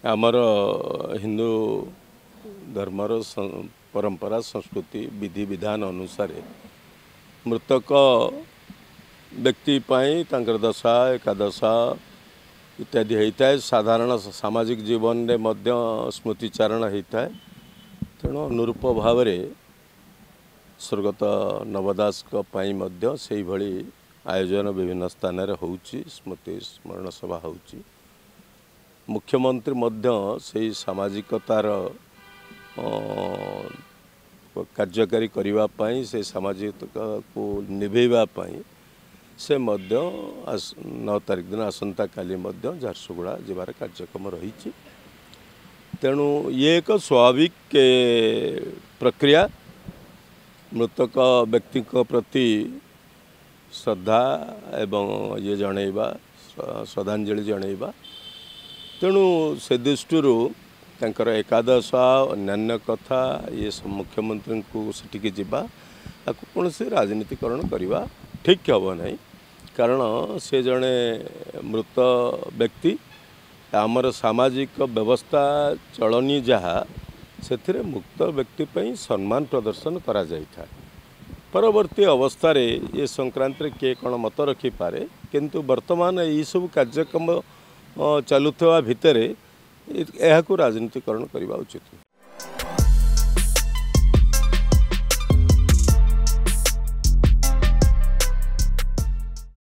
ଆମର ହିନ୍ଦୁ ଧର୍ମର ପରମ୍ପରା, ସଂସ୍କୃତି, ବିଧିବିଧାନ ଅନୁସାରେ ମୃତକ ବ୍ୟକ୍ତି ପାଇଁ ତାଙ୍କର ଦଶା, ଏକାଦଶା ଇତ୍ୟାଦି ହେଇଥାଏ। ସାଧାରଣ ସାମାଜିକ ଜୀବନରେ ମଧ୍ୟ ସ୍ମୃତିଚାରଣ ହେଇଥାଏ। ତେଣୁ ଅନୁରୂପ ଭାବରେ ସ୍ୱର୍ଗତ ନବ ଦାସଙ୍କ ପାଇଁ ମଧ୍ୟ ସେଇଭଳି ଆୟୋଜନ ବିଭିନ୍ନ ସ୍ଥାନରେ ହେଉଛି, ସ୍ମୃତି ସ୍ମରଣ ସଭା ହେଉଛି। ମୁଖ୍ୟମନ୍ତ୍ରୀ ମଧ୍ୟ ସେଇ ସାମାଜିକତାର କାର୍ଯ୍ୟକାରୀ କରିବା ପାଇଁ, ସେ ସାମାଜିକତାକୁ ନିଭେଇବା ପାଇଁ ସେ ମଧ୍ୟ 9 ତାରିଖ ଦିନ ଆସନ୍ତାକାଲି ମଧ୍ୟ ଝାରସୁଗୁଡ଼ା ଯିବାର କାର୍ଯ୍ୟକ୍ରମ ରହିଛି। ତେଣୁ ଇଏ ଏକ ସ୍ୱାଭାବିକ ପ୍ରକ୍ରିୟା। ମୃତକ ବ୍ୟକ୍ତିଙ୍କ ପ୍ରତି ଶ୍ରଦ୍ଧା ଏବଂ ଇଏ ଜଣେଇବା, ଶ୍ରଦ୍ଧାଞ୍ଜଳି ଜଣେଇବା। ତେଣୁ ସେ ଦୃଷ୍ଟିରୁ ତାଙ୍କର ଏକାଦଶ, ଅନ୍ୟାନ୍ୟ କଥା, ଇଏ ମୁଖ୍ୟମନ୍ତ୍ରୀଙ୍କୁ ସେଠିକି ଯିବା, ତାକୁ କୌଣସି ରାଜନୀତିକରଣ କରିବା ଠିକ୍ ହେବ ନାହିଁ। କାରଣ ସେ ଜଣେ ମୃତ ବ୍ୟକ୍ତି। ଆମର ସାମାଜିକ ବ୍ୟବସ୍ଥା ଚଳନି ଯାହା, ସେଥିରେ ମୁକ୍ତ ବ୍ୟକ୍ତି ପାଇଁ ସମ୍ମାନ ପ୍ରଦର୍ଶନ କରାଯାଇଥାଏ। ପରବର୍ତ୍ତୀ ଅବସ୍ଥାରେ ଏ ସଂକ୍ରାନ୍ତରେ କିଏ କ'ଣ ମତ ରଖିପାରେ, କିନ୍ତୁ ବର୍ତ୍ତମାନ ଏଇସବୁ କାର୍ଯ୍ୟକ୍ରମ ଚାଲୁଥିବା ଭିତରେ ଏହାକୁ ରାଜନୀତିକରଣ କରିବା ଉଚିତ ନୁହେଁ।